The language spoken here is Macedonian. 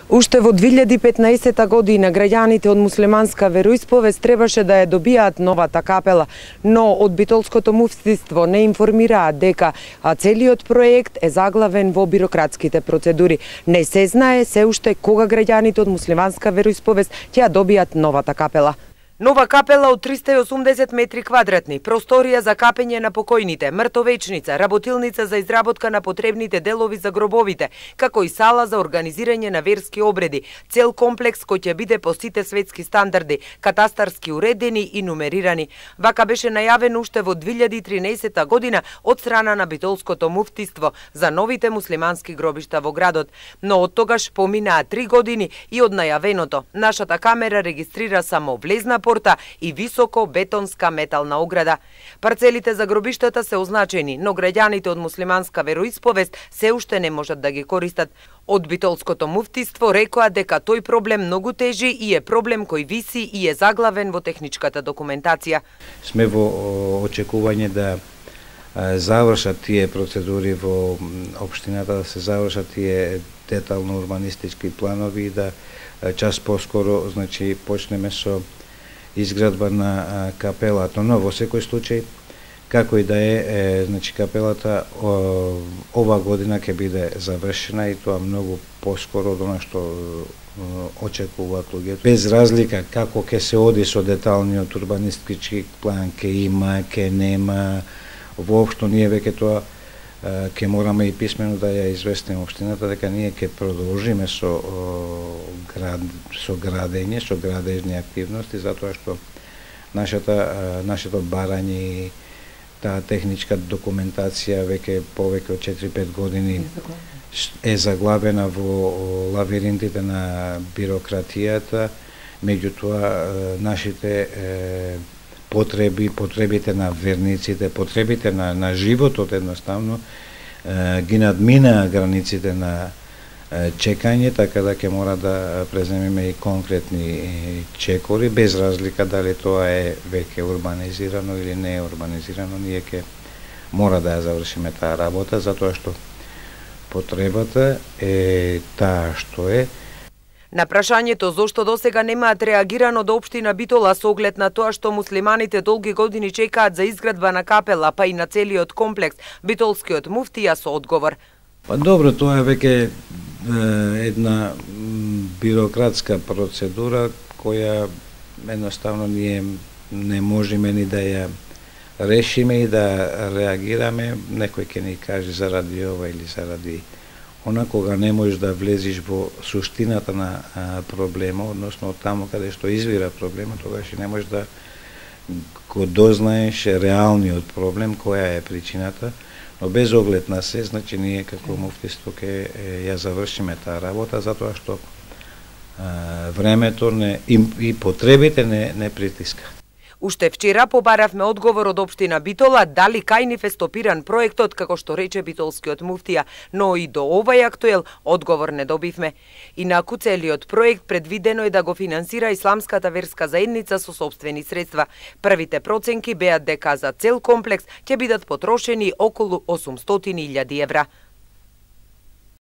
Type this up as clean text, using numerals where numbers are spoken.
Уште во 2015 година граѓаните од муслиманска вероисповест требаше да ја добијаат новата капела, но од битолското муфтиство не информираат дека целиот проект е заглавен во бирократските процедури. Не се знае се уште кога граѓаните од муслиманска вероисповест ќе ја добијат новата капела. Нова капела од 380 метри квадратни, просторија за капење на покојните, мртовечница, работилница за изработка на потребните делови за гробовите, како и сала за организирање на верски обреди, цел комплекс кој ќе биде по сите светски стандарди, катастарски уредени и нумерирани. Вака беше најавен уште во 2013 година од страна на битолското муфтиство за новите муслимански гробишта во градот, но од тогаш поминаа 3 години и од најавеното. Нашата камера регистрира само влезна порта и високо бетонска метална ограда. Парцелите за гробиштата се означени, но граѓаните од муслиманска вероисповест се уште не можат да ги користат. Од битолското муфтиство рекоа дека тој проблем многу тежи и е проблем кој виси и е заглавен во техничката документација. Сме во очекување да завршат тие процедури во општината, да се завршат тие детално урбанистички планови и да час поскоро, значи, почнеме со изградба на капелата, но во секој случај, како и да е, значи капелата ова година ќе биде завршена и тоа многу поскоро од она што очекуваат луѓето. Без разлика како ќе се оди со деталниот урбанистички план, ќе има, ќе нема, воопшто ние веќе тоа ќе мораме и писмено да ја известиме општината дека ние ќе продолжиме со градење, со градежни активности, затоа што нашето барање и таа техничка документација веќе повеќе од 4-5 години е заглавена во лавиринтите на бирократијата, меѓутоа нашите потребите на верниците, потребите на животот едноставно ги надминаа границите на чекање, така да ќе мора да преземеме и конкретни чекори, без разлика дали тоа е веќе урбанизирано или не е урбанизирано, ние ќе мора да ја завршиме таа работа, затоа што потребата е таа што е. На прашањето зошто досега немаат реагирано до општина Битола со оглед на тоа што муслиманите долги години чекаат за изградба на капела, па и на целиот комплекс, битолскиот муфтија со одговор. Па добро, тоа е веќе една бирократска процедура која едноставно ние не можеме ни да ја решиме и да реагираме. Некој ќе ни каже заради ова или заради она, кога не можеш да влезиш во суштината на проблема, односно од таму каде што извира проблемот, тогаш и не можеш да го дознаеш реалниот проблем, која е причината, но без оглед на се, значи ние како муфтиство ќе ја завршиме таа работа, затоа што времето и потребите не притиска. Уште вчера побаравме одговор од општина Битола дали кај нив е стопиран проектот, како што рече битолскиот муфтија, но и до овај актуел одговор не добивме. Инаку целиот проект предвидено е да го финансира исламската верска заедница со сопствени средства. Првите проценки беа дека за цел комплекс ќе бидат потрошени околу 800.000 евра.